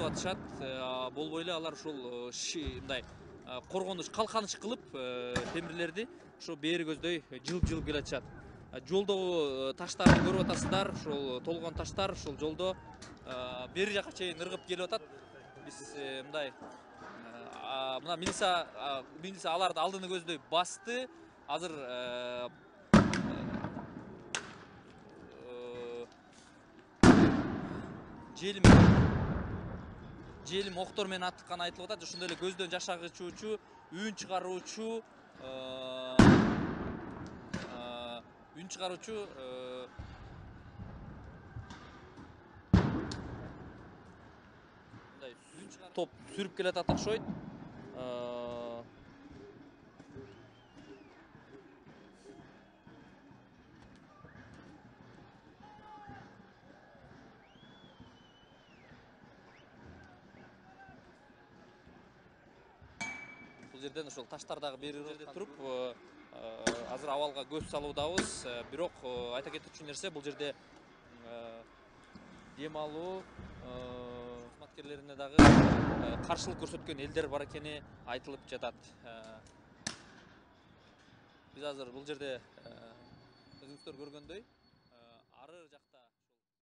тартып атышат. Болбой эле алар ушул мындай коргонуч, калканыч кылып темирлерди ошо бери көздөй жылып келе атышат. Жолдогу таштарды көрүп атасыздар, ушул толгон таштар ушул жолдо бери жака чейин ыргып келип атат. Биз мындай мына милиция аларды алдыны көздөй басты. Азыр желим октор менен аттыкканы айтылып атат. Ошондой эле көздөн жаш агычуучу, үн чыгаруучу, топ сүрүп келатат окшойт. Бул жерден ошол таштардагы бери жерде туруп азыр абалга көз салуудабыз. Бирок айта кетчү нерсе, бул жерде дем алуу кызматкерлерине дагы каршылык көрсөткөн элдер бар экени айтылып жатат. Биз азыр бул жерде өзүңүздөр көргөндөй ары жакта